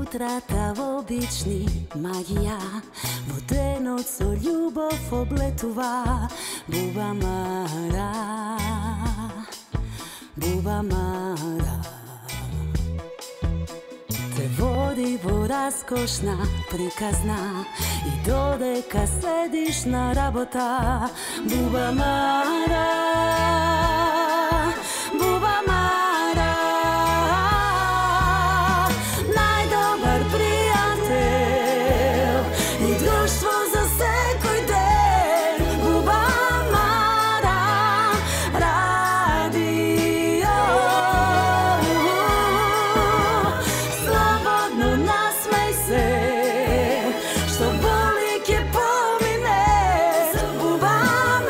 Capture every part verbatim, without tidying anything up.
утрата обични магија, во денот со љубов облетува. Буба Мара, Буба Мара, те води во раскошна приказна и додека седиш на работа. Буба Мара, Буба Мара, најдобар пријател и друштво за секој ден. Буба Мара, радио, слободно насмеј се, што боли ќе помине. Буба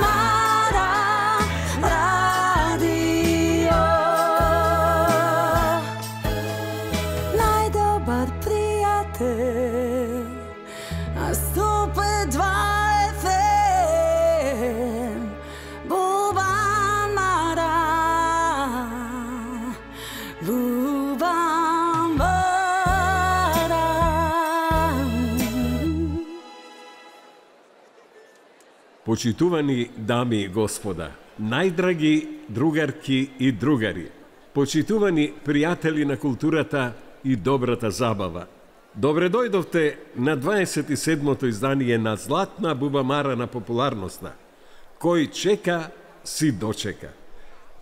Мара, радио, најдобар пријател, а сто пет два еф ем. Буба Мара, Буба Мара. Почитувани дами и господа, најдраги другарки и другари, почитувани пријатели на културата и добрата забава, добре дојдовте на дваесет и седмото издание на Златна бубамара на популарноста. Кој чека, си дочека.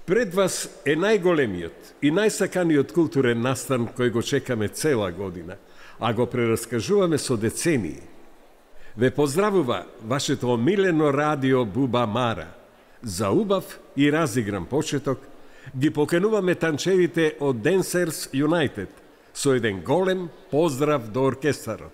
Пред вас е најголемиот и најсаканиот културен настан кој го чекаме цела година, а го прераскажуваме со децении. Ве поздравува вашето омилено радио Буба Мара. За убав и разигран почеток ги покануваме танчевите од Dancers United со еден голем поздрав до оркестарот.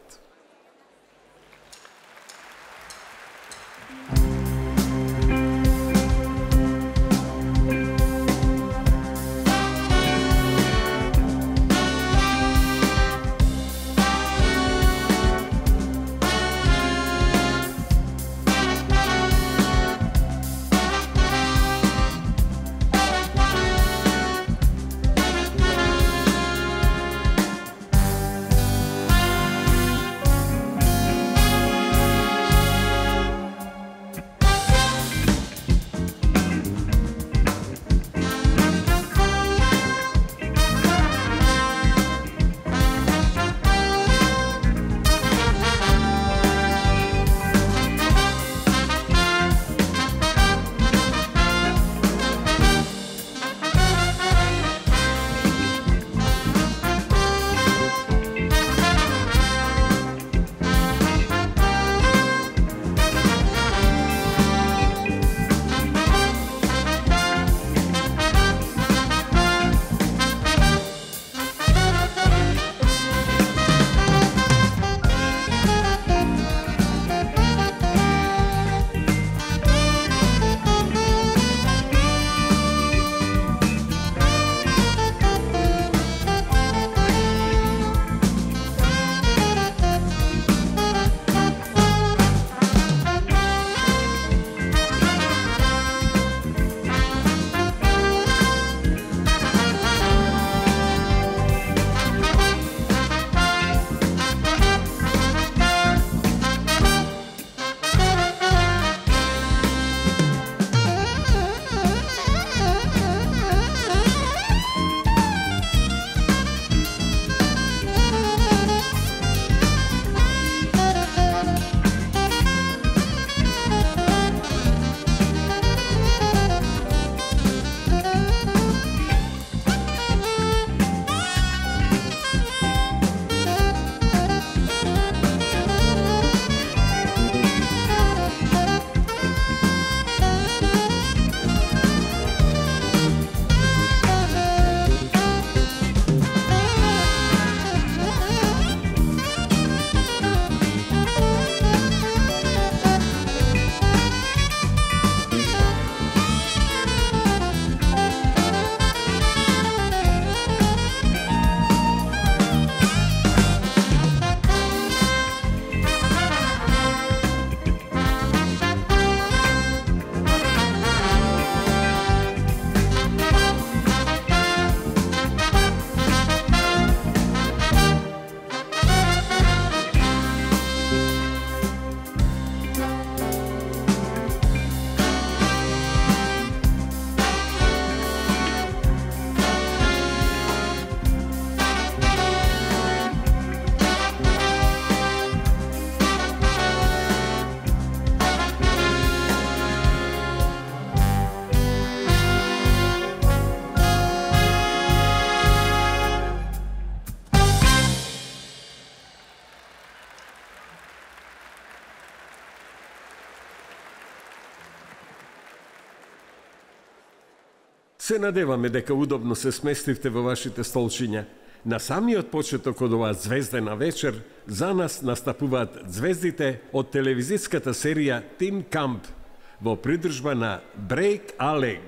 Се надеваме дека удобно се сместивте во вашите столчиња. На самиот почеток од оваа звездена вечер, за нас настапуваат звездите од телевизиската серија Тим Камп во придружба на Break a Leg.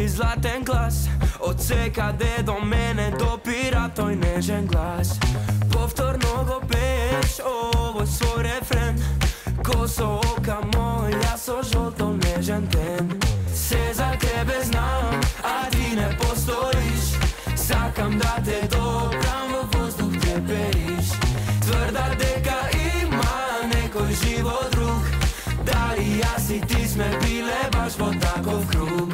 Златен глас од секаде до мене допира тој нежен глас. Повторно го пееш овој свој рефрен, косо ока моја со жолто нежен тен. Се за тебе знам, а ти не постоиш. Сакам да те допрам, во воздух те периш. Тврда дека има некој живот друг, дали јас и ти сме биле баш во таков круг.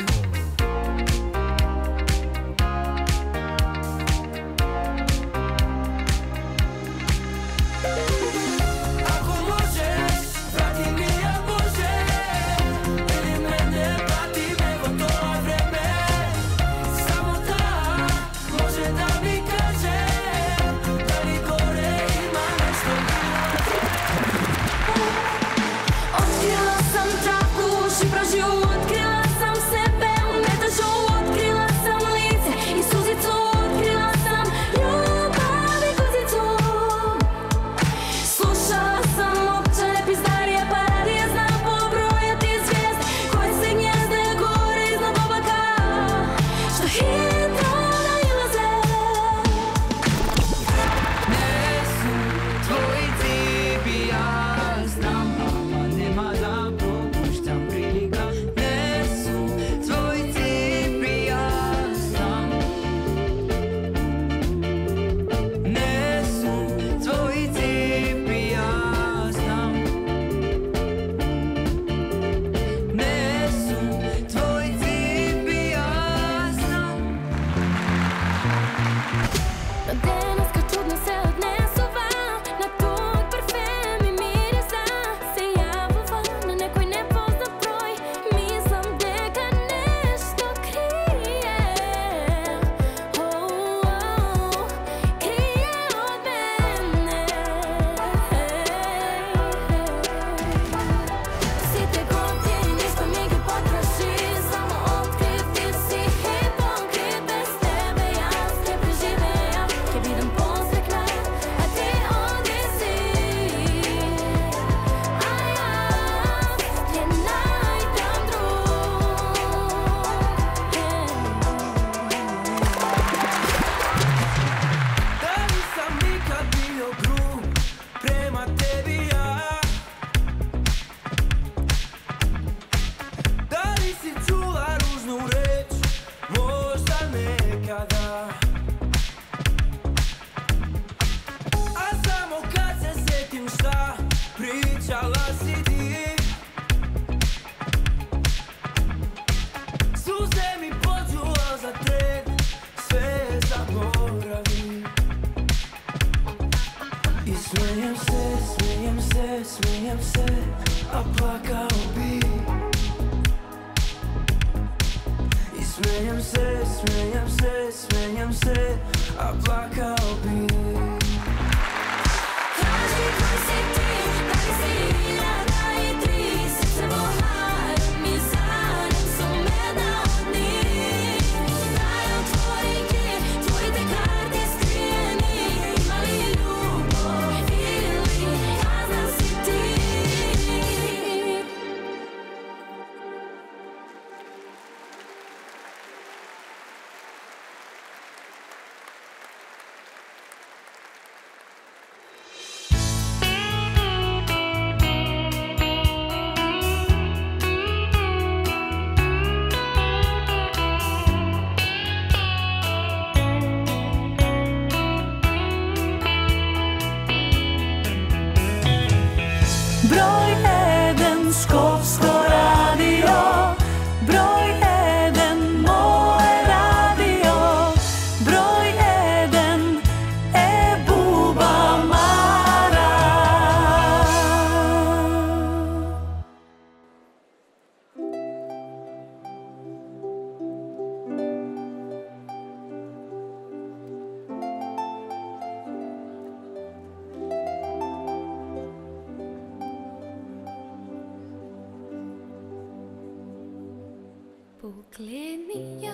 Погледни ја,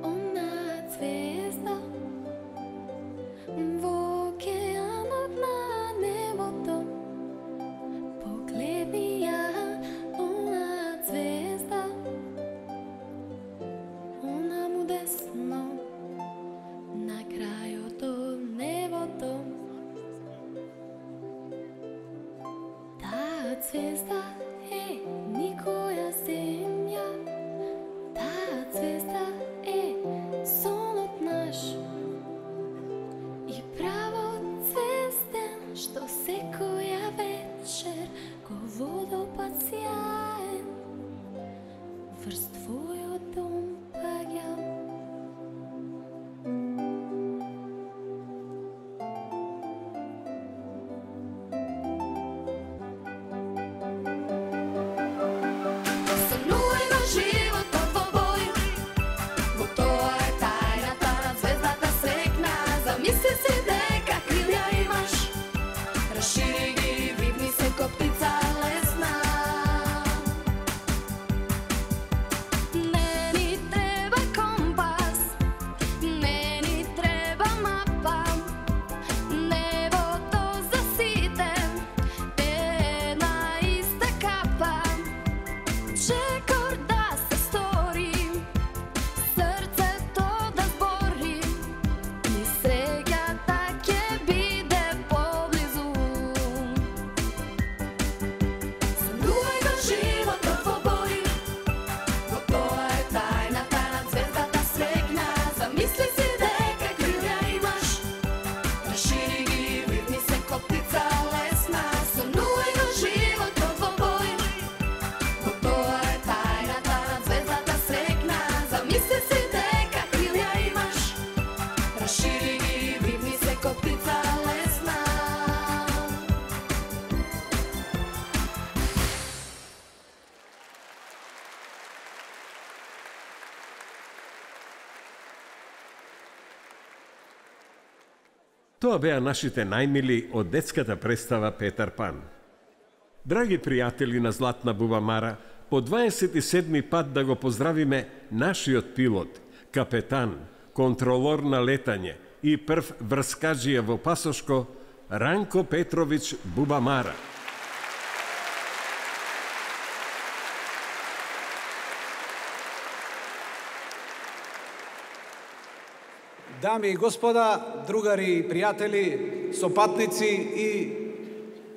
она звезда во океанот на небото. Погледни ја, она звезда, она му десно на крајот од небото. Таа звезда е никоја земја, таа звезда е сонот наш и правот звезден што секоја вечер ко водопад сјаен врз твојот дом паѓа. Тоа беа нашите најмили од детската представа Петар Пан. Драги пријатели на Златна бубамара, по дваесет и седми пат да го поздравиме нашиот пилот, капетан, контролор на летање и прв врскаджија во пасошко, Ранко Петрович Бубамара. Дами и господа, другари и пријатели, сопатници и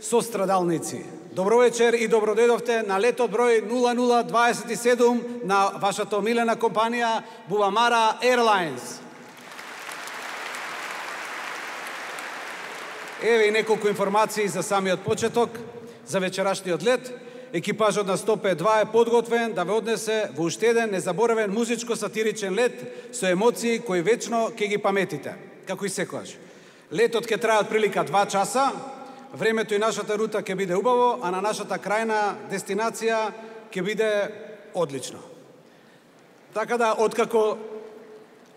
сострадалници. Добро вечер и добро дојдовте на летот број нула нула дваесет и седум на вашата омилена компанија Бубамара Airlines. Еве и неколку информации за самиот почеток, за вечерашниот лет. Екипажот на сто пет два е подготвен да ве однесе во уште еден незаборавен музичко-сатиричен лет со емоции кои вечно ќе ги паметите, како и секогаш. Летот ќе трае отприлика два часа, времето и нашата рута ќе биде убаво, а на нашата крајна дестинација ќе биде одлично. Така да, откако,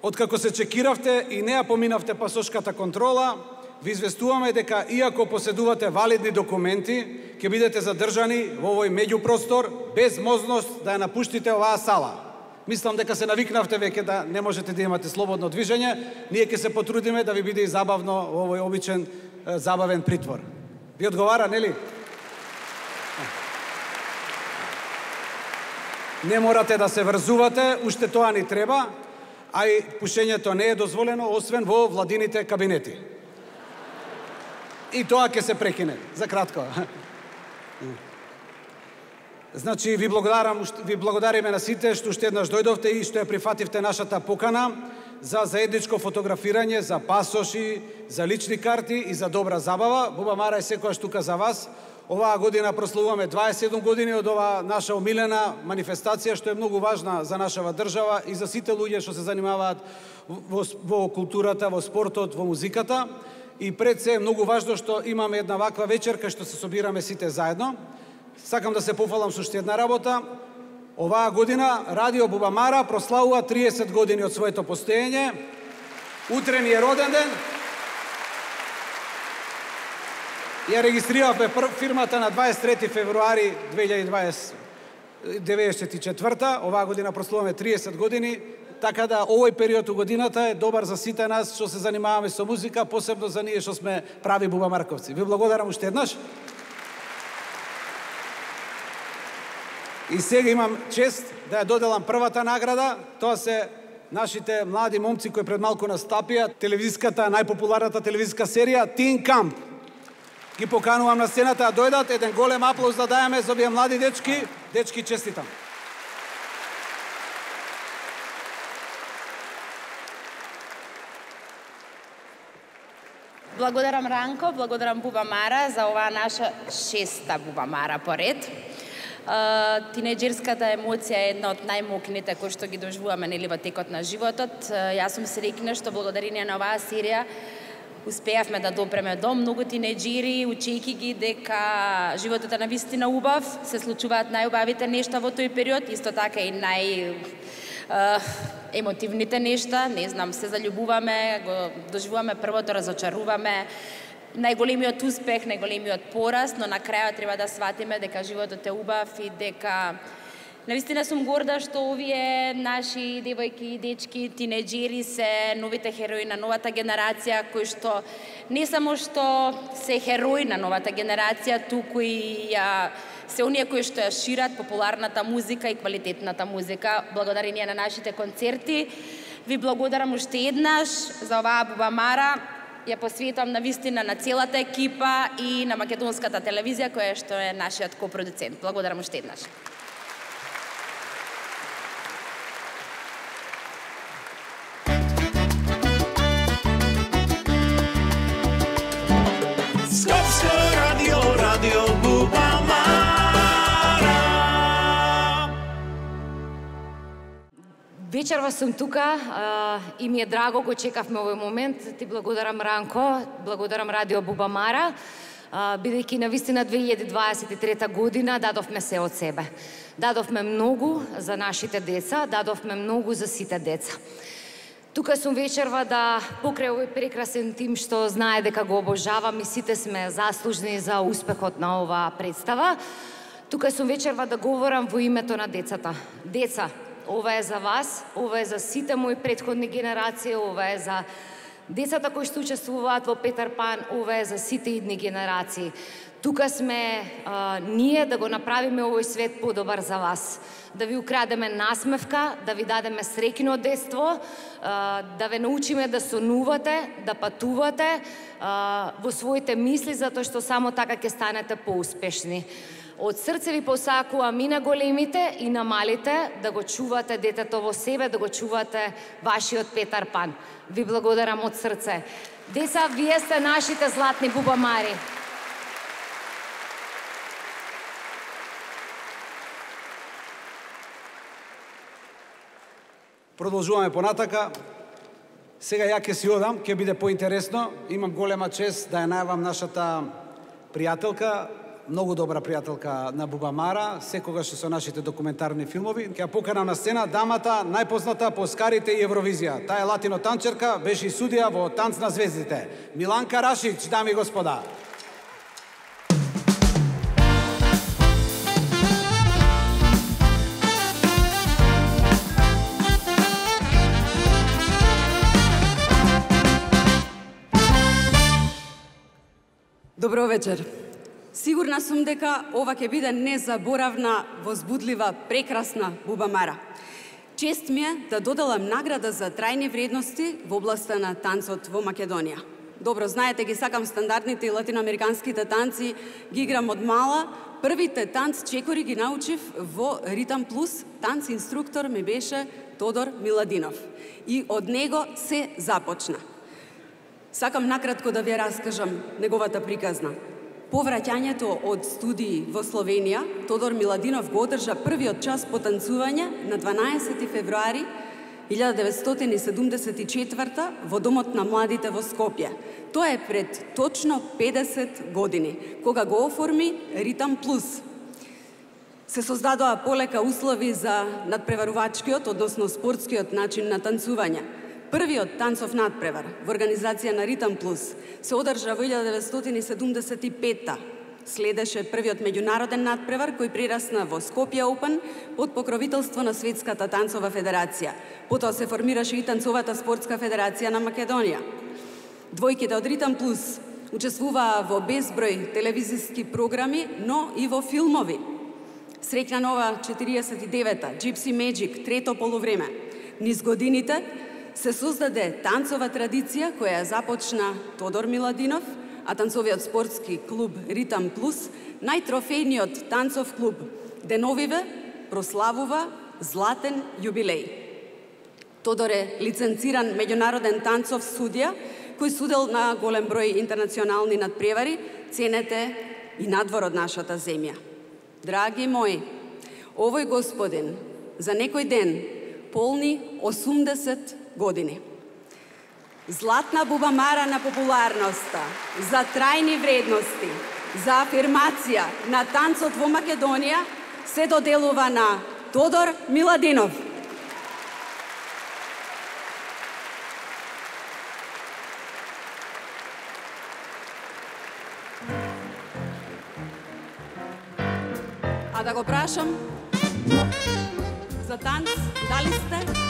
откако се чекиравте и не ја поминавте пасошката контрола, ви известуваме дека иако поседувате валидни документи, ќе бидете задржани во овој меѓупростор без можност да ја напуштите оваа сала. Мислам дека се навикнавте веќе да не можете да имате слободно движење. Ние ќе се потрудиме да ви биде и забавно во овој обичен забавен притвор. Ви одговара, нели? Не морате да се врзувате, уште тоа ни треба, а и пушењето не е дозволено освен во владините кабинети. И тоа ќе се прекине, за кратко. Значи, ви благодарам, ви благодариме на сите што уште еднаш дојдовте и што ја прифативте нашата покана за заедничко фотографирање, за пасоши, за лични карти и за добра забава. Бубамара е секојаш тука за вас. Оваа година прославуваме дваесет и седум години од оваа наша омилена манифестација, што е многу важна за нашава држава и за сите луѓе што се занимаваат во, во културата, во спортот, во музиката. И пред се е многу важно што имаме една ваква вечер кај што се собираме сите заедно. Сакам да се пофалам со уште една работа. Оваа година Радио Бубамара прославува триесет години од своето постоење. Утре ни е роден ден. Ја регистрирав фирмата на дваесет и трети февруари две илјади и дваесет деветдесет и четврта, оваа година прославуваме триесет години, така да овој период у годината е добар за сите нас што се занимаваме со музика, посебно за ние што сме прави бубамарковци. Ви благодарам уште еднаш. И сега имам чест да ја доделам првата награда. Тоа се нашите млади момци кои пред малку настапија телевизиската, најпопуларната телевизиска серија Тин Камп. Ги поканувам на сцената да дојдат, еден голем аплауз да дајаме за овие млади дечки. Дечки, честитам. Благодарам Ранко, благодарам Бубамара за оваа наша шеста Бубамара поред. Тинеџерската емоција е една од најмокните кои што ги доживуваме нели во текот на животот. Јас сум среќна што благодарение на оваа серија успеавме да допреме до многу тинеџери, учејќи ги дека животот е навистина убав, се случуваат најубавите нешта во тој период, исто така и нај емотивните нешта, не знам, се заљубуваме, го доживуваме првото, разочаруваме, најголемиот успех, најголемиот пораз, но на крајот треба да сватиме дека животот е убав и дека навистина сум горда што овие наши девојки и дечки, тинеџери се новите херои на новата генерација, кои што не само што се херои на новата генерација, туку и ја се оние кои што ја шират популарната музика и квалитетната музика. Благодарение на нашите концерти. Ви благодарам уште еднаш за оваа Бубамара. Ја посветувам на вистина на целата екипа и на македонската телевизија, која што е нашиот копродуцент. Благодарам уште еднаш. Скопско радио, радио Бубамара. Вечерва сум тука а, и ми е драго, го чекавме овој момент. Ти благодарам Ранко, благодарам Радио Бубамара, а, бидејќи навистина две илјади дваесет и трета година дадовме се од себе. Дадовме многу за нашите деца, дадовме многу за сите деца. Тука сум вечерва да покрај овој прекрасен тим што знае дека го обожавам и сите сме заслужни за успехот на оваа представа. Тука сум вечерва да говорам во името на децата. Деца, ова е за вас, ова е за сите мои претходни генерации, ова е за децата кои што учествуваат во Петар Пан, ова е за сите идни генерации. Тука сме а, ние да го направиме овој свет подобар за вас. Да ви украдеме насмевка, да ви дадеме среќно детство, а, да ве научиме да сонувате, да патувате а, во своите мисли, затоа што само така ќе станете поуспешни. Од срце ви посакувам и на големите и на малите да го чувате детето во себе, да го чувате вашиот Петар Пан. Ви благодарам од срце. Деца, вие сте нашите златни бубамари. Продолжуваме понатака. Сега ја ќе си одам, ќе биде поинтересно. Имам голема чест да ја најавам нашата пријателка, многу добра пријателка на Бубамара, секогаш со нашите документарни филмови. Ќе ја поканам на сцена дамата најпозната по Оскарите и Евровизија. Таа е латино танчерка, беше и судија во Танц на звездите. Миланка Рашич, дами и господа. Добро вечер. Сигурна сум дека ова ќе биде незаборавна, возбудлива, прекрасна Бубамара. Чест ми е да доделам награда за трајни вредности во областа на танцот во Македонија. Добро знаете, ги сакам стандардните и латиноамериканските танци, ги играм од мала. Првите танц чекори ги научив во Ритам Плюс. Танц инструктор ми беше Тодор Миладинов. И од него се започна. Сакам накратко да ви раскажам неговата приказна. По враќањето од студии во Словенија, Тодор Миладинов го одржа првиот час по танцување на дванаесети февруари илјада деветстотини седумдесет и четврта во Домот на младите во Скопје. Тоа е пред точно педесет години, кога го оформи Ритам Плюс. Се создадоа полека услови за надпреварувачкиот, односно спортскиот начин на танцување. Првиот танцов надпревар во организација на Ритам Плюс се одржа во илјада деветстотини седумдесет и петта Следеше првиот меѓународен надпревар кој прерасна во Скопје Open под покровителство на Светската танцова федерација. Потоа се формираше и Танцовата спортска федерација на Македонија. Двојките од Ритам Плюс учествуваа во безброј телевизиски програми, но и во филмови. Среќна нова четириесет и девета, Gypsy Magic, трето полувреме. Низ годините се создаде танцова традиција која ја започна Тодор Миладинов, а танцовиот спортски клуб Ритам Плюс, најтрофејниот танцов клуб деновиве прославува златен јубилеј. Тодор е лиценциран меѓународен танцов судија, кој судел на голем број интернационални надпревари, ценете и надвор од нашата земја. Драги мои, овој господин за некој ден полни осумдесет години. Златна бубамара на популарноста, за трајни вредности, за афирмација на танцот во Македонија се доделува на Тодор Миладинов. А да го прашам за танц, дали сте?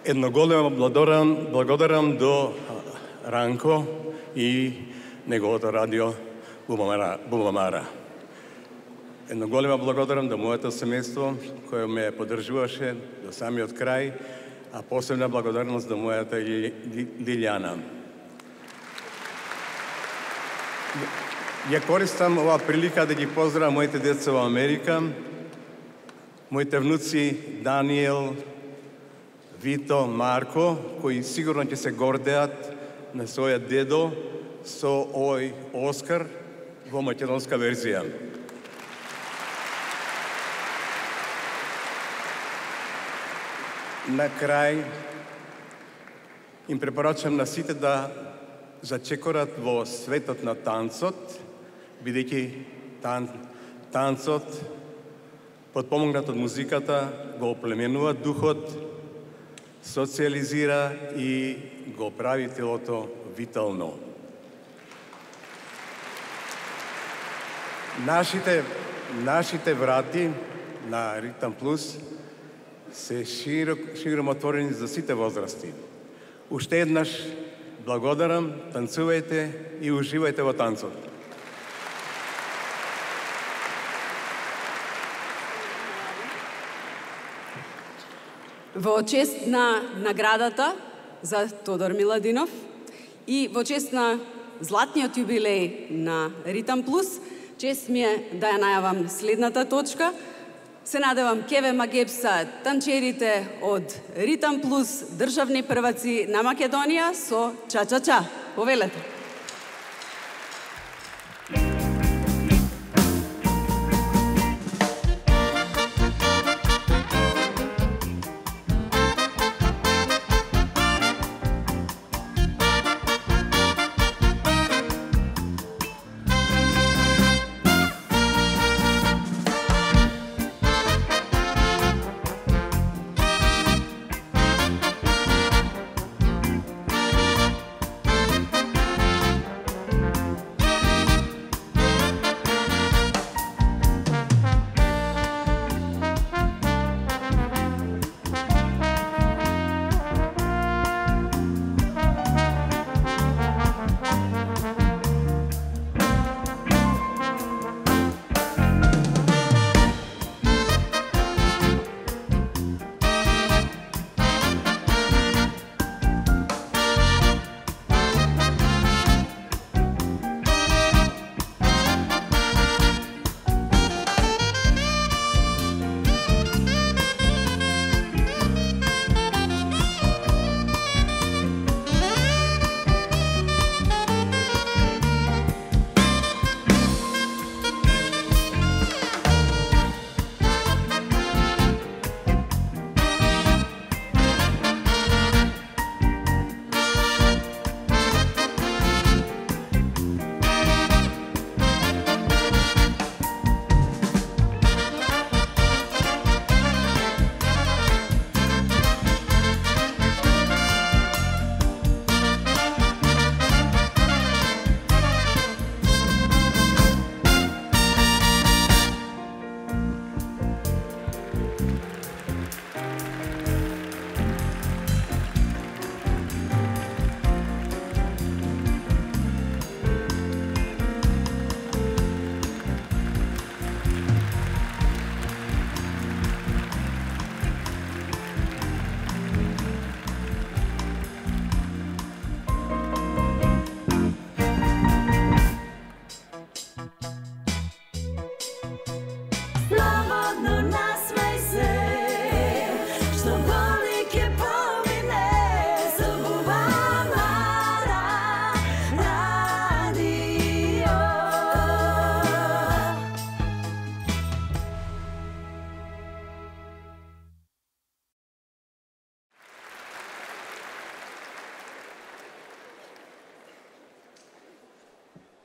Едно големо благодарам, благодарам до Ранко и неговото радио Бубамара. Бубамара. Едно големо благодарам до моето семејство кое ме поддржуваше до самиот крај, а посебна благодарност до мојата Лилјана. Ја користам оваа прилика да ги поздравам моите деца во Америка, моите внуци Даниел, Вито, Марко, кои сигурно ќе се гордеат на својот дедо со овој Оскар во македонска верзија. На крај им препорачам на сите да зачекорат во светот на танцот, бидејќи тан, танцот, подпомогнат од музиката, го оплеменува духот, социализира и го прави телото витално. Нашите, нашите врати на Ритам Плюс се широк, широм отворени за сите возрасти. Уште еднаш благодарам, танцувајте и уживајте во танцот. Во чест на наградата за Тодор Миладинов и во чест на златниот јубилеј на Ритам Плюс, чест ми е да ја најавам следната точка. Се надевам ке ве магепса танчерите од Ритам Плюс, државни прваци на Македонија со ча-ча-ча. Повелете.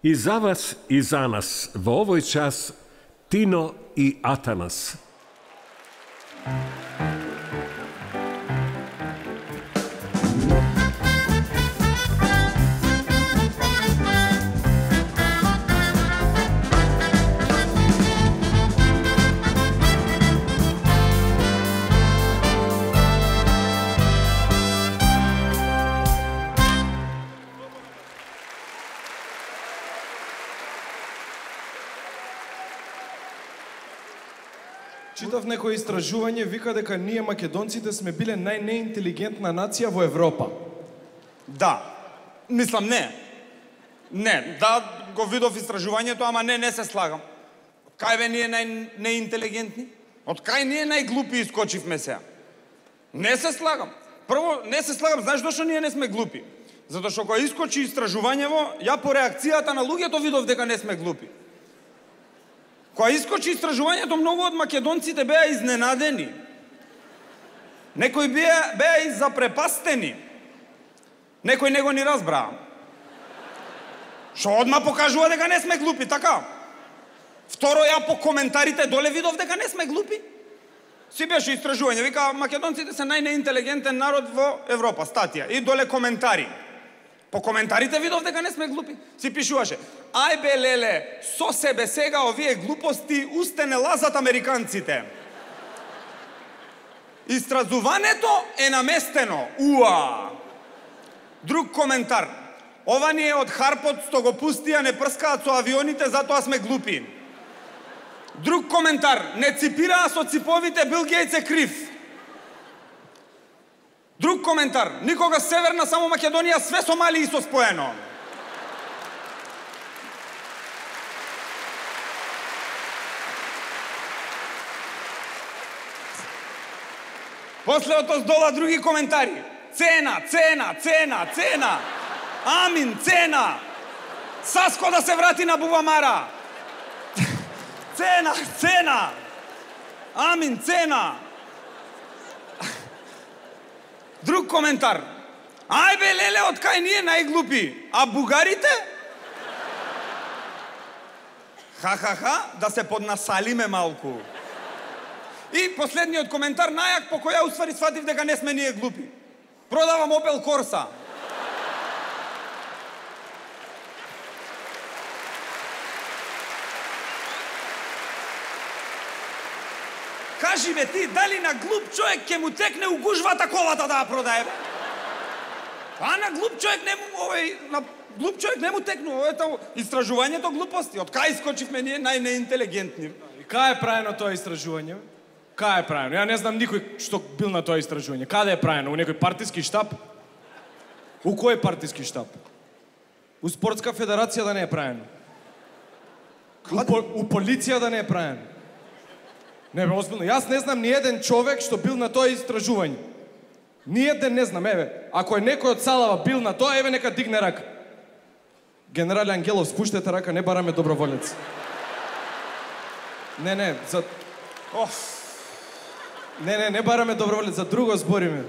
И за вас и за нас во овој час Тино и Атанас. Читав некој истражување, вика дека ние македонците сме биле најнеинтелигентна нација во Европа. Да. Мислам, не. Не, да, го видов истражувањето, ама не, не се слагам. Кај бе ние најнеинтелигентни? Од кај ние најглупи искочивме сега? Не се слагам. Прво, не се слагам, знаеш зашто ние не сме глупи? Затоа што кога искочи истражувањево, ја по реакцијата на луѓето видов дека не сме глупи. Кога искочи истражувањето, многу од македонците беа изненадени. Некои беа, беа и запрепастени. Некои не го ни разбраа. Што одма покажува дека не сме глупи, така? Второ, ја по коментарите доле видов дека не сме глупи. Си беше истражување, вика македонците се најнеинтелигентен народ во Европа, статија. И доле коментари. По коментарите видов дека не сме глупи. Си пишуваше: ај бе леле, со себе сега овие глупости усте не лазат американците. Истразувањето е наместено. Уа! Друг коментар: ова ни е од Харпот што го пустија, не прскаат со авионите, затоа сме глупи. Друг коментар: не ципираа со циповите, Бил Гейтс е крив. Друг коментар: никога Северна, само Македонија, све Сомалии со споено. После од дола други коментари: цена, цена, цена, цена. Амин, цена. Саско да се врати на Бубамара. Цена, цена. Амин, цена. Друг коментар: ај бе леле, од кај ние најглупи, а бугарите? Ха-ха-ха, да се поднасалиме малку. И последниот коментар, најак, по која уствари сватив дека не сме ние глупи. Продавам Opel Corsa. Кажи бе ти, дали на глуп човек ќе му текне у гужвата колата да ја продае? А на глуп човек не му, овој, на глуп човек не му текну, ето истражувањето глупости. Од кај искочивме ние најнеинтелигентни? И кај е правено тоа истражување? Кај е правено? Ја не знам никој што бил на тоа истражување. Каде е правено? У некој партиски штаб? У кој партиски штаб? У спортска федерација да не е правено? У, по, у полиција да не е правено? Не бе, озбилно. Јас не знам ни еден човек што бил на тоа истражување. Ни еден не знам, еве. Ако е некој од Салава бил на тоа, еве нека дигне рака. Генерале Ангелов, спуштете рака, не бараме доброволец. Не, не, за... Оф. Не, не, не бараме доброволец, за друго збориме.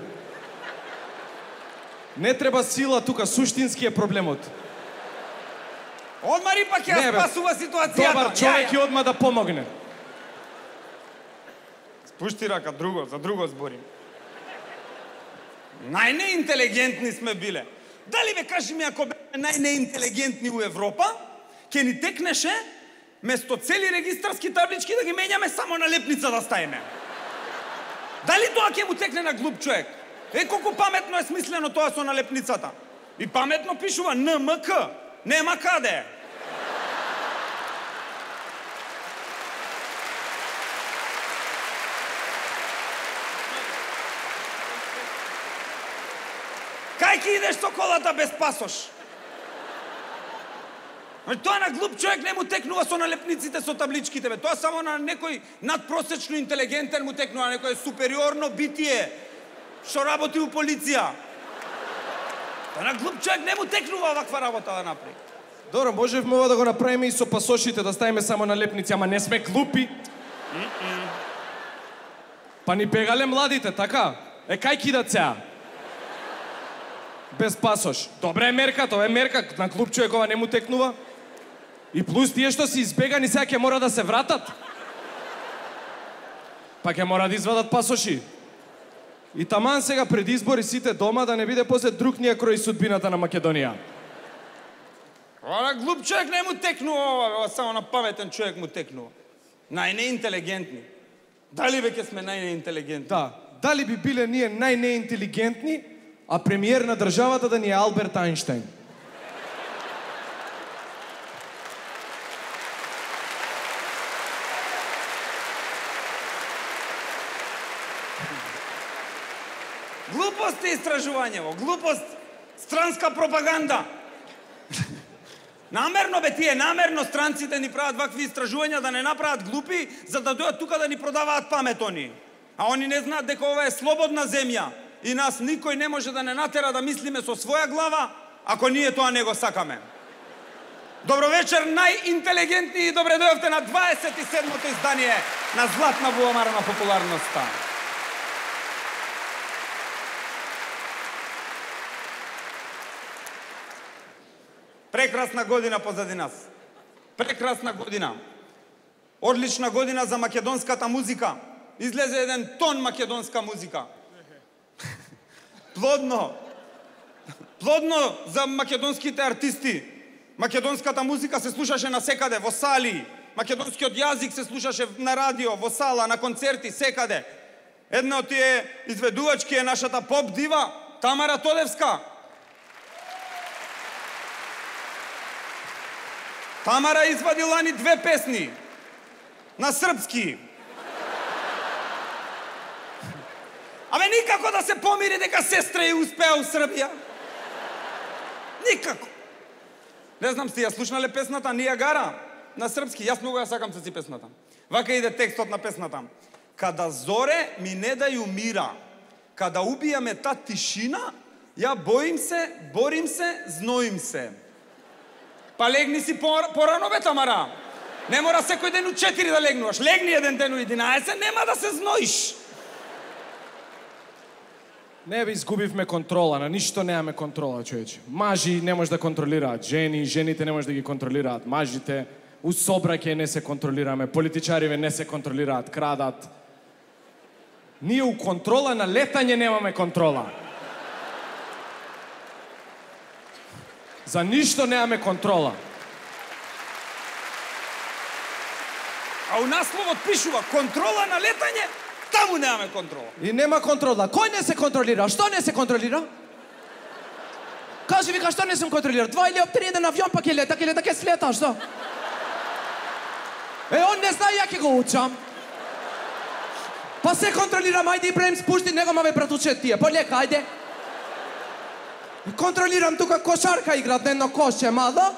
Не треба сила тука, суштински е проблемот. Одма рипак ја спасува ситуацијата. Добар човек и одма да помогне. Спушти рака, друго, за друго зборим. Најнеинтелигентни сме биле. Дали бе, кажи ми, ако бе најнеинтелигентни у Европа, ќе ни текнеше место цели регистарски таблички да ги менјаме само на лепница да ставиме. Дали тоа ќе му текне на глуп човек? Е, колку паметно е смислено тоа со налепницата. И паметно пишува Н М К. Нема каде. Кај ќе идеш со колата без пасош? Тоа на глуп човек не му текнува со налепниците, со табличките, бе. Тоа само на некој надпросечно интелигентен му текнува, некој супериорно битие, што работи у полиција. Тоа на глуп човек не му текнува ваква работа да направи. Добро, можевме ова да го направиме и со пасошите, да ставиме само налепници, ама не сме глупи. Mm-mm. Па ни бегале младите, така? Е, кај кидат сега? Без пасош. Добре е мерка, тоа е мерка, на глуп човек ова не му текнува. И плюс тие што се избегани сега ќе мора да се вратат. Па ќе мора да извадат пасоши. И таман сега пред избори сите дома да не биде после друг ние крој судбината на Македонија. Ова глуп човек не му текнува ова, ова само на паметен човек му текнува. Најнеинтелигентни. Дали веќе сме најнеинтелигентни? Да, дали би биле ние најнеинтелигентни, а премиер на државата да ни е Алберт Ајнштајн? Глупост е истражувањево, глупост, странска пропаганда. Намерно бе тие, намерно странците ни прават вакви истражувања да не направат глупи, за да дојдат тука да ни продаваат памет они. А они не знаат дека ова е слободна земја и нас никој не може да не натера да мислиме со своја глава, ако ние тоа не го сакаме. Добро вечер, најинтелигентни, и добре дојавте на дваесет и седмото издание на Златна бубамара на популарноста. Прекрасна година позади нас. Прекрасна година. Одлична година за македонската музика. Излезе еден тон македонска музика. Плодно. Плодно за македонските артисти. Македонската музика се слушаше насекаде, во сали. Македонскиот јазик се слушаше на радио, во сала, на концерти, секаде. Една од тие изведувачки е нашата поп дива Тамара Тодевска. Тамара извадила ни две песни на српски. Абе никако да се помири дека сестра ја успеа у Србија. Никако. Не знам сте ја слушнале песната Нијагара на српски. Јас многу ја сакам се си песната. Вака иде текстот на песната. Када зоре ми не дају мира, када убијаме та тишина, ја боим се, борим се, зноим се. Па легни си порано, бе, Тамара. Не мора секој ден у четири да легнуваш. Легни еден ден у единаесет, нема да се зноиш. Не бе, изгубивме контрола, на ништо немаме контрола, човече. Мажи не може да контролираат жени, жените не може да ги контролираат мажите, у собраќе не се контролираме, политичариве не се контролираат, крадат. Ние у контрола на летање немаме контрола. За ништо немаме контрола. А у насловот пишува контрола на летање, таму немаме контрола. И нема контрола. Кој не се контролира? Што не се контролира? Кажи вика, што не сум контролира? Два или три еден авион па ќе лета, ќе лета, ќе слета, што? Е, он не знае, ја ќе го учам. Па се контролирам, ајде Ибраим, спушти него, ма ве братуче тие. Полека, ајде. Контролирам тука кошарка играт на едно кошче мало.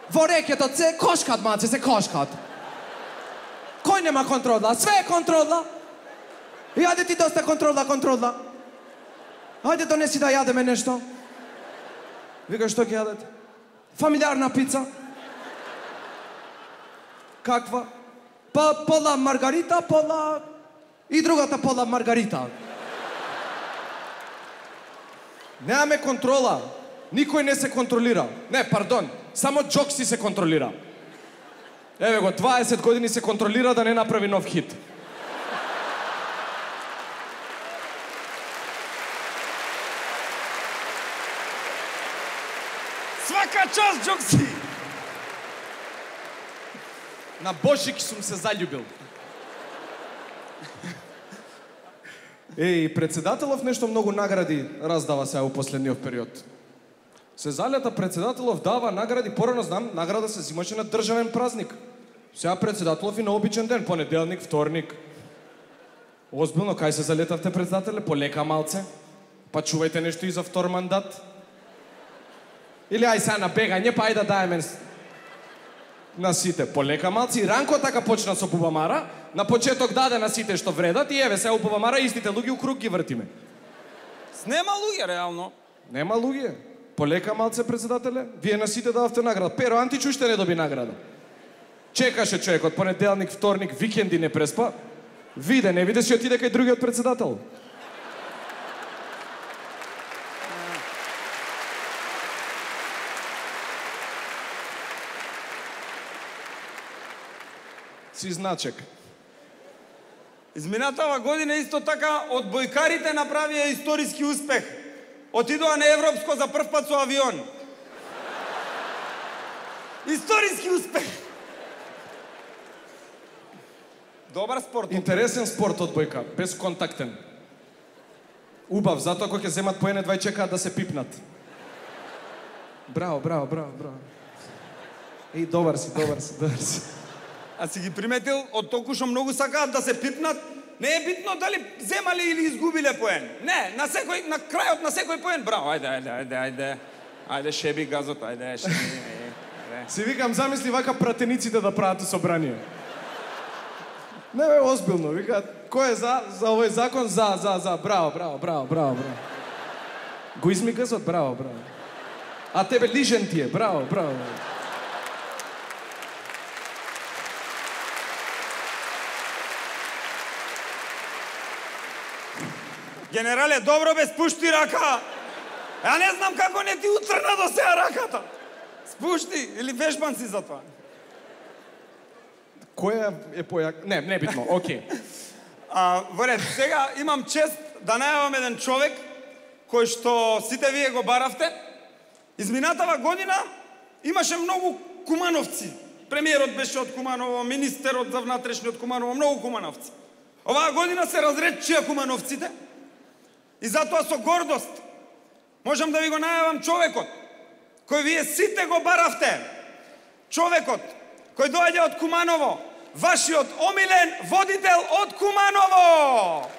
Во рекето се кошкат, маце, се кошкат. Кој нема контрола? Све е контрола. И ајде ти доста контрола, контрола. Ајде донеси да јадеме нешто. Вика, што ќе јадете? Фамилиарна пица. Каква? Па пола маргарита, пола... И другата пола маргарита. Немаме контрола. Никој не се контролира. Не, пардон. Само Джокси се контролира. Еве го, дваесет години се контролира да не направи нов хит. Свака част, Джокси! На Божик сум се заљубил. Еј, председателов нешто многу награди раздава сега у последниот период. Се залета председателов дава награди, порано знам, награда се зимаше на државен празник. Сега председателов и на обичен ден, понеделник, вторник. Озбилно, кај се залетавте председателе? Полека малце. Па чувајте нешто и за втор мандат. Или ај сега на бегање, па ај да даеме на сите. Полека малци. И Ранко така почна со Бубамара. На почеток даде на сите што вредат и еве сега у Бубамара истите луѓе у круг ги вртиме. Нема луѓе, реално. Нема луѓе. Полека малце, председателе. Вие на сите дававте награда. Перо Антич уште не доби награда. Чекаше човекот понеделник, вторник, викенди не преспа. Виде, не виде, си отиде кај другиот председател. Си значек. Изминатава година исто така одбојкарите направија историски успех. Отидоа на европско за прв пат со авион. Историски успех. Добар спорт. Интересен спорт одбојка, безконтактен. Убав, затоа кога ќе земат поене два и чекаат да се пипнат. Браво, браво, браво, браво. Еј, добар си, добар си, добар си. А си ги приметил, од толку што многу сакаат да се пипнат, не е битно дали земали или изгубиле поен. Не, на секој, на крајот на секој поен, браво, ајде, ајде, ајде, ајде. Ајде, шеби газот, ајде, шеби. Ајде. Си викам, замисли вака пратениците да прават собрание. Не бе, озбилно, вика, кој е за, за овој закон? За, за, за, браво, браво, браво, браво, браво. Го изми газот, браво, браво. А тебе лижен ти е, браво, браво. Генерале, добро бе, спушти рака. Ја не знам како не ти утрна до сега раката. Спушти, или вежбан си за тоа. Која е појак? Не, не битно, окей. А, во ред, сега имам чест да најавам еден човек кој што сите вие го баравте. Изминатава година имаше многу кумановци. Премиерот беше од Куманово, министерот за внатрешни од Куманово, многу кумановци. Оваа година се разречија кумановците и затоа со гордост можам да ви го најавам човекот кој вие сите го баравте. Човекот кој доаѓа од Куманово, вашиот омилен водител од Куманово.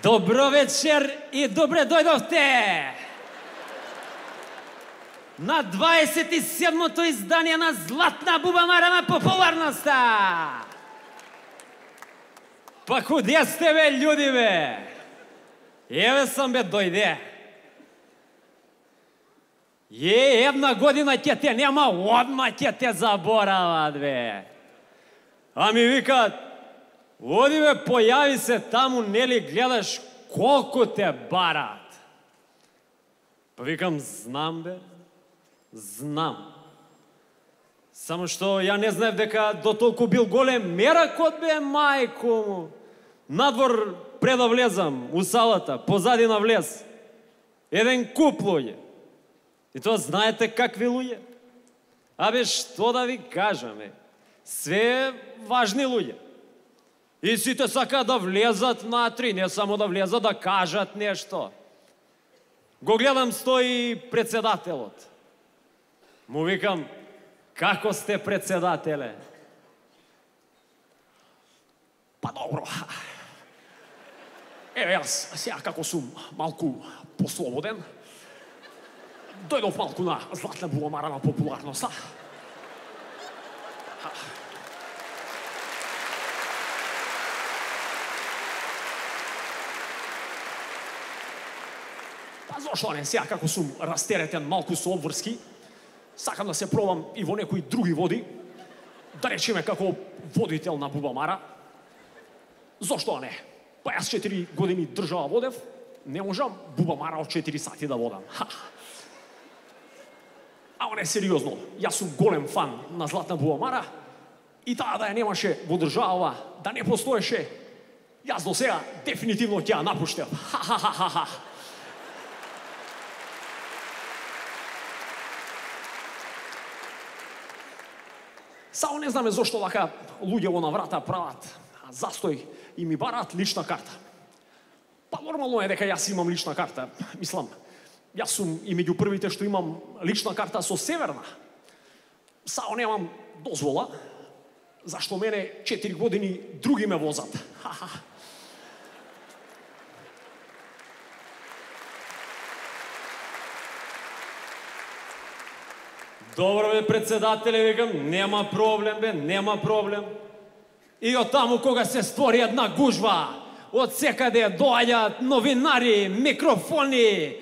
Добро вечер и добре дојдовте на дваесет и седмото издание на Златна бубамара на популарноста. Па куде сте бе, људи бе? Еве сам бе, дојде. Е, една година ќе те нема, одма ќе те заборават бе. А ми викаат, оди бе, појави се таму, нели гледаш колку те барат. Па викам, знам бе, знам. Само што ја не знаев дека до толку бил голем меракот бе, мајко му. Надвор пред да влезам, у салата, позади на влез. Еден куп луѓе. И тоа знаете какви луѓе? Абе, што да ви кажаме? Све важни луѓе. И сите сакаат да влезат внатри, не само да влезат, да кажат нешто. Го гледам, стои председателот. Му викам, како сте, председателе? Па добро. Еве јас, сега како сум малку послободен, дојдов малку на Златна бубамара на популарноста. Па зошто не, сега како сум растеретен малку со обврски, сакам да се пробам и во некои други води, да речеме како водител на бубамара. Зошто не? Па јас четири години држава водев, не можам бубамара од четири сати да водам. Ха. Ама не, сериозно, јас сум голем фан на Златна бубамара и таа да ја немаше во држава, да не постоеше, јас до сега дефинитивно ќе ја напуштев. Ха-ха-ха-ха. Само не знаме зошто вака луѓе во наврата прават застој и ми бараат лична карта. Па нормално е дека јас имам лична карта. Мислам, јас сум и меѓу првите што имам лична карта со Северна. Само немам дозвола, зашто мене четири години други ме возат. Ха-ха. Добро бе, председателе, викам, нема проблем бе, нема проблем. И од таму кога се створи една гужва од секаде доаѓаат новинари, микрофони,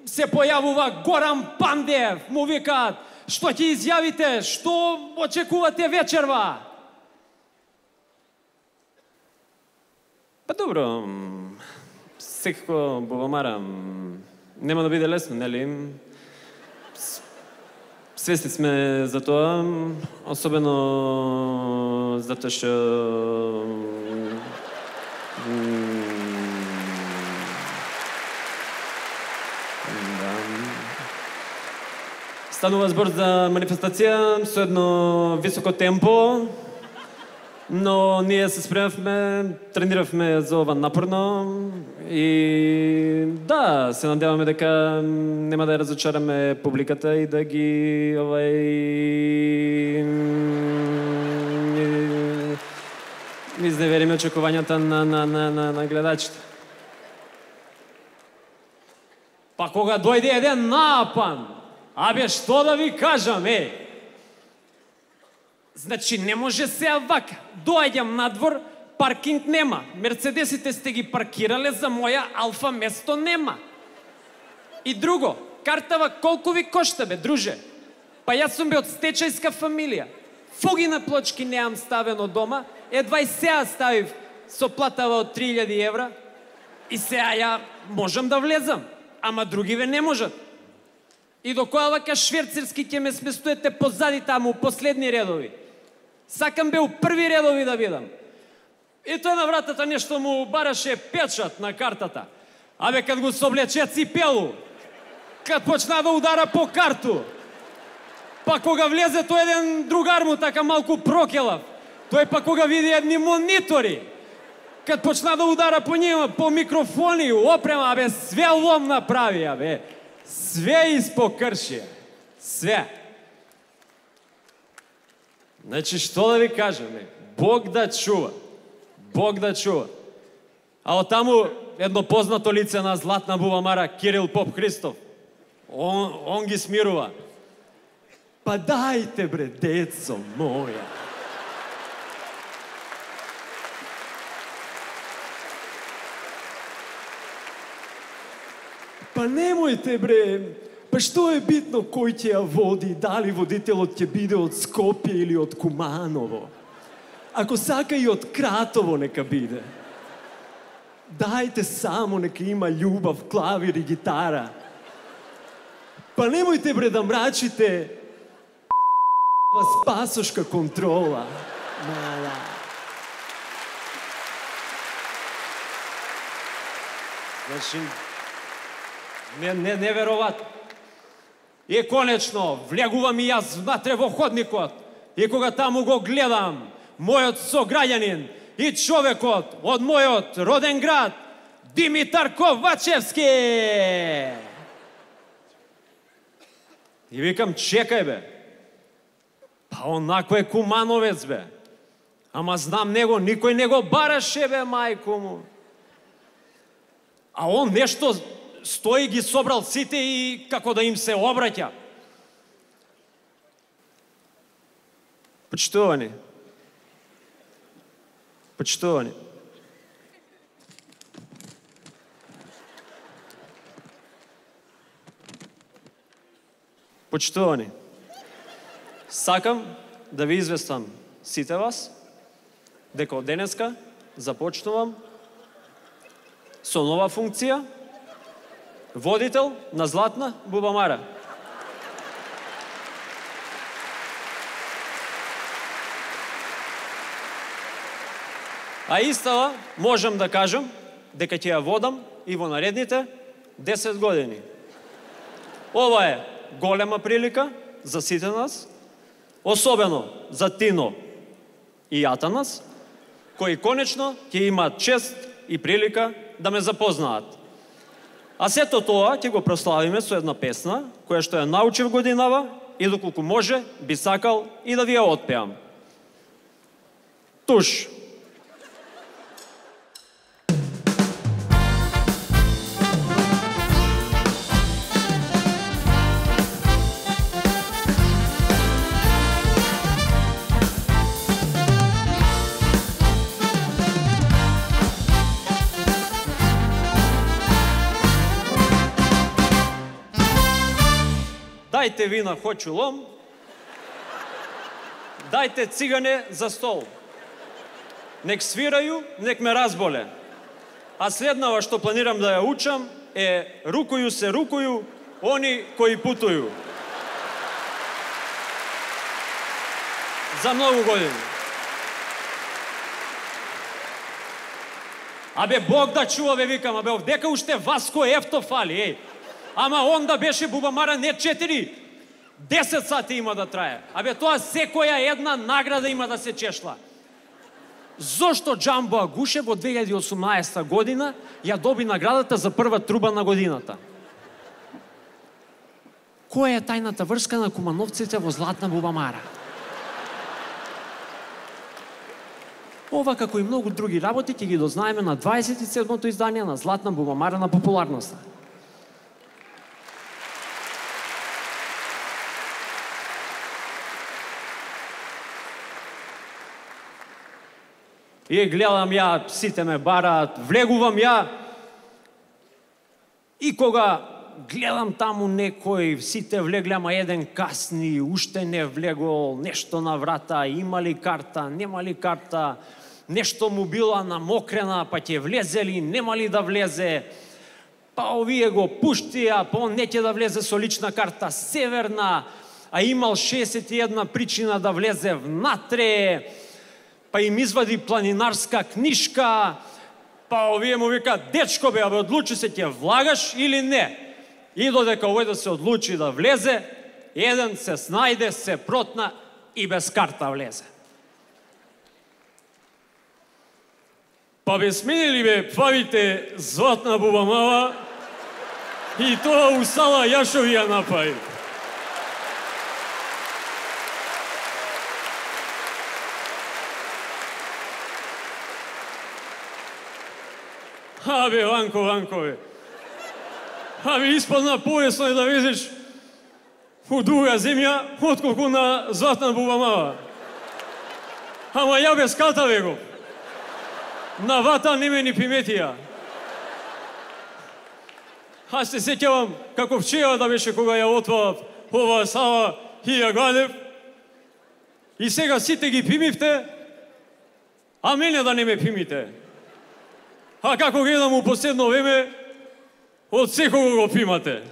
се појавува Горан Пандев, му викаат, што ќе изјавите, што очекувате вечерва? Па добро, секако Бубамара, нема да биде лесно, нели? Свесни сме за тоа, особено затоа што станува збор за манифестација со едно високо темпо, но ние се спремавме, трениравме за ова напорно и да, се надеваме дека нема да ја разочараме публиката и да ги овај изневериме очекувањата на, на, на, на, на гледачите. Па кога дојде еден напан, абе што да ви кажам, е? Значи, не може сега вака. Доаѓам надвор, паркинг нема. Мерцедесите сте ги паркирале, за моја Алфа место нема. И друго, картава колку ви кошта, бе, друже? Па јас сум бе од стечајска фамилија. Фуги на плочки неам ставено дома, едва и сега ставив со платава од три илјади евра и сега ја можам да влезам, ама другиве не можат. И до која вака шверцерски ќе ме сместуете позади таму, последни редови. Сакам бе у први редови да бидам. И тој на вратата нешто му бараше печат на картата. Абе, кад го соблече ципелу, кад почна да удара по карту, па кога влезе тој еден другар му така малку прокелав, тој па кога види едни монитори, кад почна да удара по нима, по микрофони, опрема, абе, све лом направи, абе. Све испокрши. Све. Значи, што да ви кажем, Бог да чува. Бог да чува. А од таму едно познато лице на Златна Бубамара, Кирил Поп Христов. Он, он ги смирува. Па дајте, бре, децо моја. Па немојте, бре, па што е битно кој ќе ја води, дали водителот ќе биде од Скопје или од Куманово. Ако сака и од Кратово нека биде. Дајте само нека има љубав, клавир и гитара. Па немојте, бре, да мрачите спасошка контрола. Мала. Значи, Не, не, невероvatno. И конечно, влегувам и јас внатре во ходникот. И кога таму го гледам, мојот сограѓанин и човекот од мојот роден град, Димитар Ковачевски. И викам, чекај, бе. Па онако е Кумановец, бе. Ама знам него, никој не го бараше, бе, мајко му. А он нешто стои, ги собрал сите и како да им се обраќа. Почитувани. Почитувани. Почитувани. Сакам да ви известам сите вас дека од денеска започнувам со нова функција водител на Златна Бубамара. А истава можам да кажам дека ќе ја водам и во наредните десет години. Ова е голема прилика за сите нас, особено за Тино и Атанас, кои конечно ќе имаат чест и прилика да ме запознаат. А сето тоа ќе го прославиме со една песна, која што ја научив годинава и доколку може, би сакал и да ви ја отпеам. Туш. дајте вина, хоќу лом, дајте цигане за стол. Нек свирају, нек ме разболе. А следнава што планирам да ја учам е рукују се рукују они кои путују. За многу години. Абе, Бог да чува, бе, викам, абе, овдека уште Васко Ефто фали, еј. Ама онда беше Бубамара не четири, десет сати има да трае. Абе, тоа секоја една награда има да се чешла. Зошто Джамбо Агуше во две илјади и осумнаесета година ја доби наградата за прва труба на годината? Која е тајната врска на кумановците во Златна Бубамара? Ова, како и многу други работи, ќе ги дознаеме на дваесет и седмото издание на Златна Бубамара на популарноста. И гледам ја, сите ме бараат, влегувам ја, и кога гледам таму некој, сите влегле, ама еден касни, уште не влегол, нешто на врата, има ли карта, нема ли карта, нешто му била намокрена, па ќе влезе ли, нема ли да влезе, па овие го пуштија, па он не ќе да влезе со лична карта северна, а имал шеесет и една причина да влезе внатре, па им извади планинарска книшка, па овие му вика, дечко бе, абе, одлучи се, ќе влагаш или не? И додека овој да се одлучи да влезе, еден се снајде, се протна и без карта влезе. Па бе сменили бе павите Златна Бубамара и тоа у сала Јашови ја напаи. Абе, Ванко, Ванко, бе. Абе, испадна поесно е да везеш у друга земја, отколку на Златна Бубамара. Ама ја без ката, бе го. На вата не ме ни приметија. Аз се сеќавам како вчера да беше кога ја отварав оваа сала и ја гледав. И сега сите ги примивте, а мене да не ме примите. А како гледам у последно време, од секого го примате.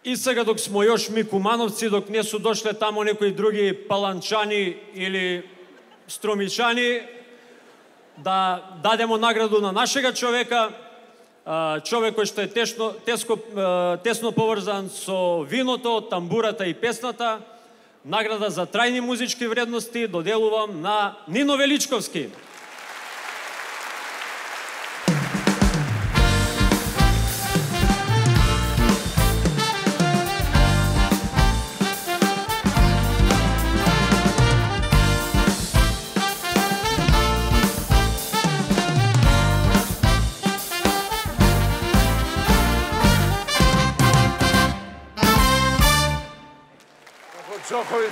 И сега док смо још ми кумановци, док не су дошле тамо некои други паланчани или стромичани, да дадемо награду на нашега човека, човек кој што е тесно, теско, тесно поврзан со виното, тамбурата и песната. Награда за трајни музички вредности доделувам на Нино Величковски. Джоховиќ,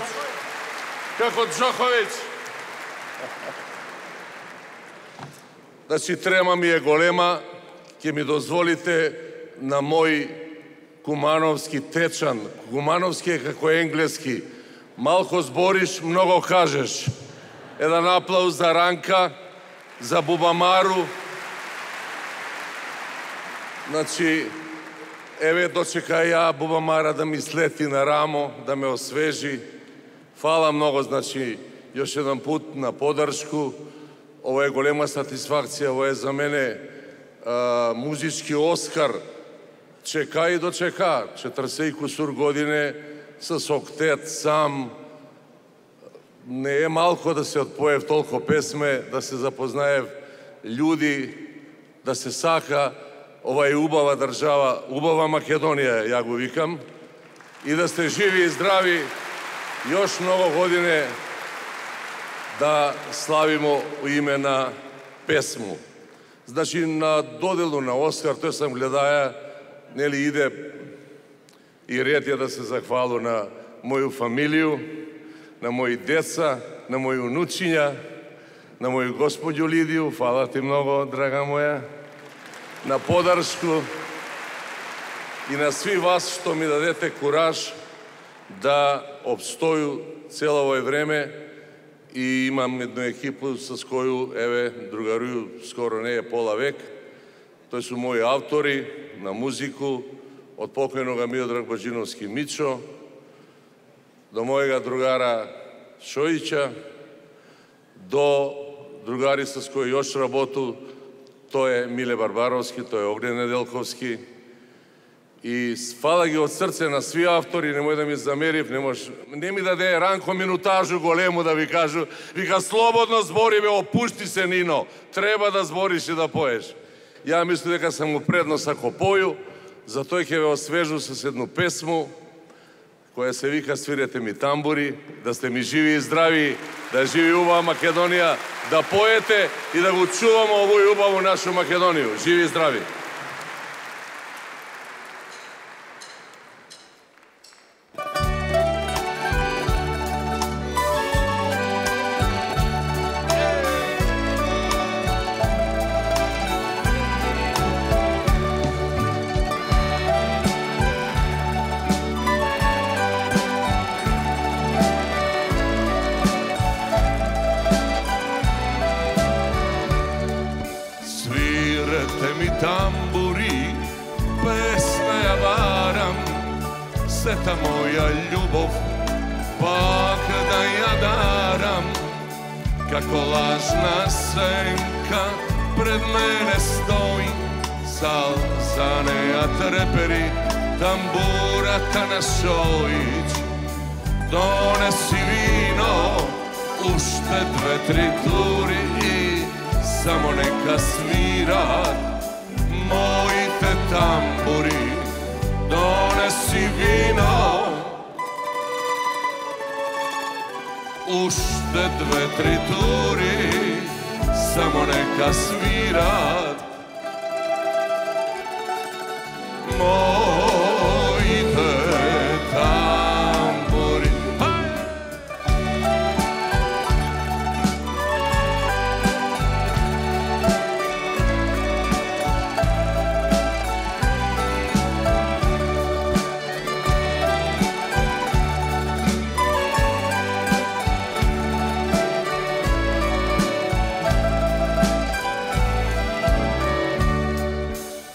како Джоховиќ. Значи, трема ми е голема, ќе ми дозволите на мој кумановски течан. Кумановски е како енглески. Малко збориш, много кажеш. Еден аплауз за Ранка, за Бубамару. Значи, еве дочека ја Бубамара да ми слети на рамо, да ме освежи. Фала многу, значи, још еден пут на подршку. Ова е голема сатисфакција, ова е за мене а, музички Оскар. Чека и дочека, четресет и кусур године с октет сам. Не е малко да се отпоев толку песме, да се запознаев људи, да се сака. Ова е убава држава, убава Македонија, ја го викам. И да сте живи и здрави, још многу године да славимо у име на песму. Значи, на доделу на Оскар, тој сам гледаја, нели иде и ред е да се захвалу на моју фамилију, на мои деца, на мои унучиња, на моju gospođu Lidiju, hvala ti mnogo, draga moja, na podarsku i na svi vas što mi dadete kuraž da opstoju celo ovo vreme i imam jednu ekipu sa koju, еве, другаруju skoro не je pola vek. To su moji autori na muziku, od pokojnoga Miodrag Bađinovski Mićo, do mojega drugara Šojića, do drugaрица с кои još работу, to je Mile Barbarovski, to je Ognjen Nedelkovski. И фала ги од срце на сви автори, немој да ми замерив, не може, не ми даде Ранко минутажу голему да ви кажу, вика слободно збори бе, опушти се Нино, треба да збориш и да поеш. Ја мислам дека сам му преднос ако поју, затоа ќе ве освежу со едну песму која се вика Свирете ми тамбури, да сте ми живи и здрави, да живи убава Македонија, да поете и да го чуваме овој убаву нашу Македонiju. Живи и здрави! Сета моја љубов, пак да ја дарам, како лажна сенка пред мене стои, салза неа трепери, тамбурата на Шојич. Донеси вино, уште две-три тури и само нека свират моите тамбури. Донеси вино, уште две-три тури, само нека свират моите тамбури.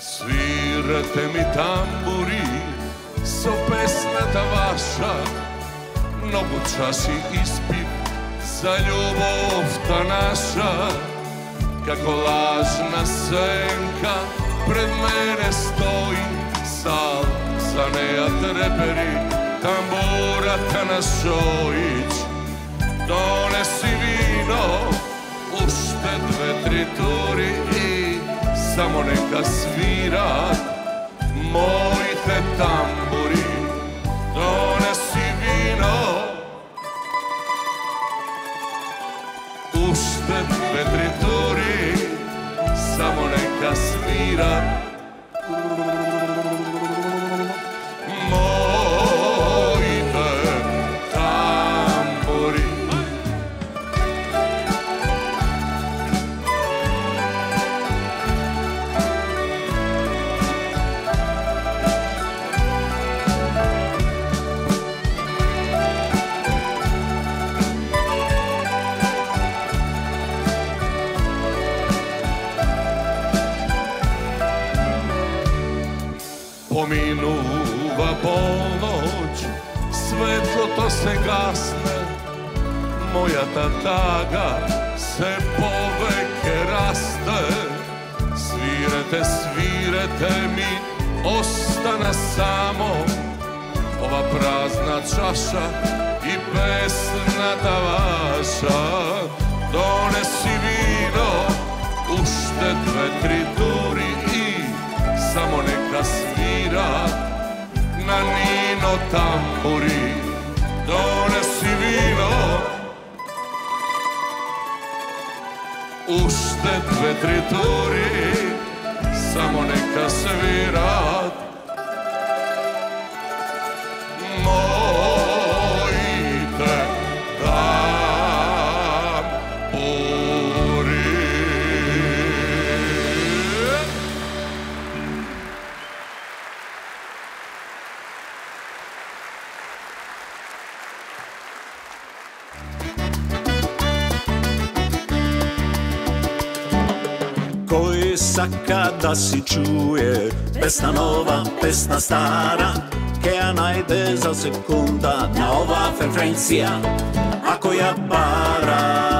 Свирете ми тамбури со песната ваша, многу чаши испив за љубовта наша, како лажна сенка пред мене стои, салза неа трепери, тамбурата на Шојич. Донеси вино, уште две-три тури и само нека свират моите тамбури. Донеси вино, уште две-три тури, само нека свират моите тамбури. Поминува полноќ, светлото се гасне, мојата тага се повеќе расте. Свирете, свирете ми, остана само ова празна чаша и песната ваша. Донеси вино, уште две-три тури и само нека свират на Нино тамбури. Донеси вино, уште две-три тури, само нека свират моите тамбури. сака да си чуе песна нова, песна стара, ке ја најде за секунда на оваа фреквенција, ако ја бара.